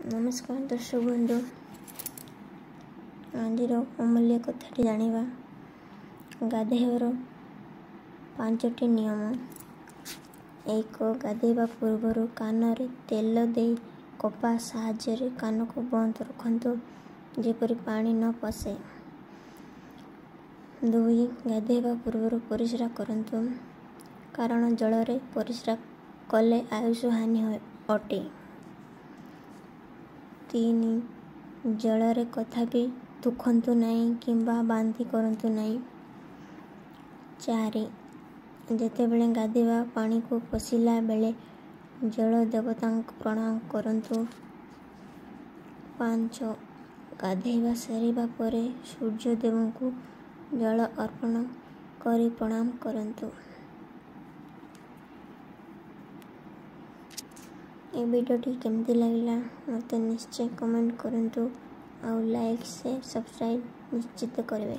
ନମସ୍କାର ଦର୍ଶକ ବନ୍ଧୁ, ଆଜିର ଅମୂଲ୍ୟ କଥାଟି ଜାଣିବା ଗାଧୋଇବାର 5ଟି ନିୟମ। 1, ଗାଧୋଇବା ପୂର୍ବରୁ କାନରେ ତେଲ ଦେଇ କପା ସାହାଯ୍ୟରେ କାନକୁ ବନ୍ଦ ରଖନ୍ତୁ, ଯେପରି ପାଣି ନ ପଶେ। 2, ଗାଧୋଇବା ପୂର୍ବରୁ ପରିସ୍ରା କରନ୍ତୁ, କାରଣ ଜଳରେ ପରିସ୍ରା କଲେ ଆୟୁଷ ହାନି ଅଟେ। 3, ଜଳରେ କଦାପି ଥୁକନ୍ତୁ ନାହିଁ କିମ୍ବା ବାନ୍ତି କରନ୍ତୁ ନାହିଁ। 4, ଯେତେବେଳେ ଗାଧୋଇବା ପାଣିକୁ ପଶିଲା ବେଳେ ଜଳ ଦେବତାଙ୍କୁ ପ୍ରଣାମ କରନ୍ତୁ। 5, ଗାଧୋଇବା ସରିବା ପରେ ସୂର୍ଯ୍ୟଦେବଙ୍କୁ ଜଳ ଅର୍ପଣ କରି ପ୍ରଣାମ କରନ୍ତୁ। ଏ ଭିଡ଼ିଓଟି କେମିତି ଲାଗିଲା ମୋତେ ନିଶ୍ଚୟ କମେଣ୍ଟ କରନ୍ତୁ, ଆଉ ଲାଇକ୍, ସେୟାର, ସବସ୍କ୍ରାଇବ୍ ନିଶ୍ଚିତ କରିବେ।